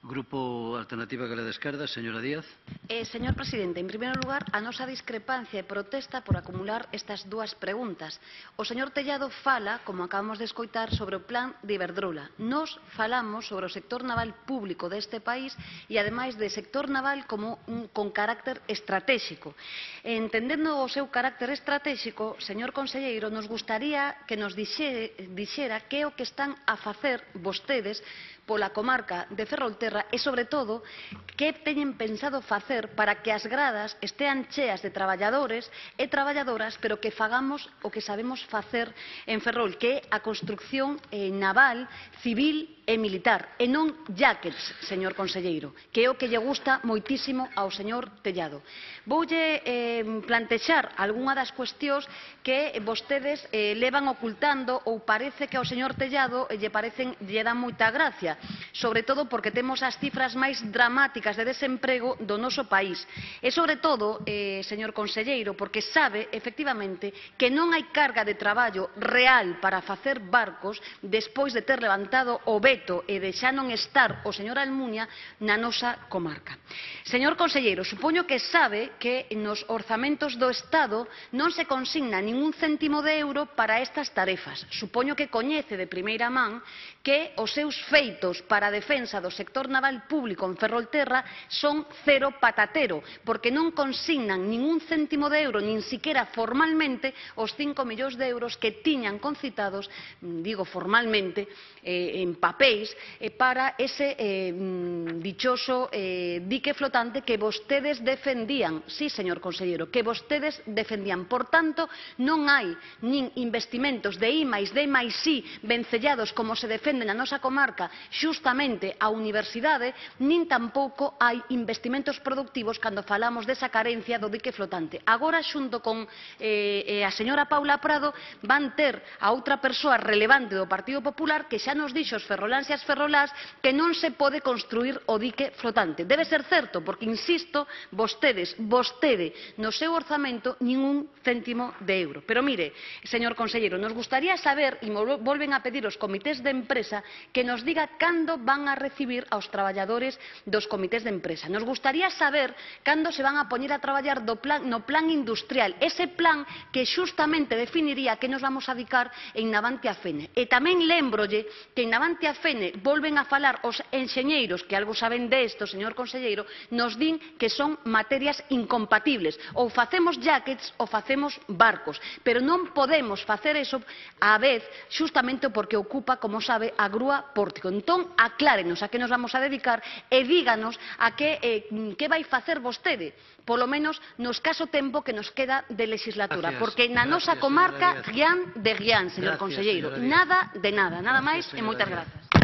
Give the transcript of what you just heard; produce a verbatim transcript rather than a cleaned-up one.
Grupo Alternativa Galega de Esquerda, señora Díaz. Eh, señor presidente, en primeiro lugar, a nosa discrepancia e protesta por acumular estas dúas preguntas. O señor Tellado fala, como acabamos de escoitar, sobre o plan de Iberdrola. Nos falamos sobre o sector naval público deste país e, ademais, de sector naval como un, con carácter estratégico. Entendendo o seu carácter estratégico, señor conselleiro, nos gustaría que nos dixe, dixera que é o que están a facer vostedes pola comarca de Ferrolterra e, sobre todo, que teñen pensado facer para que as gradas estean cheas de traballadores e traballadoras, pero que fagamos o que sabemos facer en Ferrol, que é a construcción eh, naval, civil e militar, e non jackets, señor conselleiro, que é o que lle gusta moitísimo ao señor Tellado. Voulle eh, plantexar algunha das cuestións que vostedes eh, levan ocultando ou parece que ao señor Tellado eh, lle parecen, lle dan moita gracia, sobre todo porque temos as cifras máis dramáticas de desemprego do noso país. E, sobre todo, eh, señor conselleiro, porque sabe, efectivamente, que non hai carga de traballo real para facer barcos despois de ter levantado o veto e de xa non estar o señor Almunia na nosa comarca. Señor conselleiro, supoño que sabe que nos orzamentos do Estado non se consigna ningún céntimo de euro para estas tarefas. Supoño que coñece de primeira man que os seus feitos para a defensa do sector naval público en Ferrolterra son cero patatero, porque non consignan ningún céntimo de euro, nin siquiera formalmente, os cinco millóns de euros que tiñan concitados, digo formalmente, eh, en papéis, eh, para ese eh, dichoso eh, dique flotante que vostedes defendían. Sí, señor conselleiro, que vostedes defendían. Por tanto, non hai nin investimentos de I máis D máis I vencellados como se defende na nosa comarca, xustamente a universidade, nin tampouco hai investimentos productivos cando falamos desa carencia do dique flotante. Agora, xunto con eh, a señora Paula Prado, van ter a outra persoa relevante do Partido Popular que xa nos dixo os ferroláns e as ferrolás que non se pode construir o dique flotante. Debe ser certo, porque, insisto, vostedes, vostede, no seu orzamento, nin un céntimo de euro. Pero mire, señor conselleiro, nos gustaría saber, e volven a pedir os comités de empresa, que nos diga cando van a recibir aos traballadores dos comités de empresa. Nos gustaría saber cando se van a poñer a traballar do plan, no plan industrial, ese plan que xustamente definiría que nos vamos a dedicar en Navantia Fene. E tamén lémbrolle que en Navantia Fene volven a falar os enxeñeiros, que algo saben desto, señor conselleiro, nos din que son materias incompatibles. Ou facemos jackets ou facemos barcos, pero non podemos facer eso á vez, xustamente porque ocupa, como sabe, a grúa pórtico. Entón, aclárenos a que nos vamos a dedicar e díganos a que, eh, que vai facer vostede, polo menos no escaso tempo que nos queda de legislatura, Gracias, porque na nosa gracias, comarca, señora Díaz. guián de guián, señor Gracias, conselleiro, señora Díaz. nada de nada, nada máis Gracias, e moitas señora Díaz. grazas.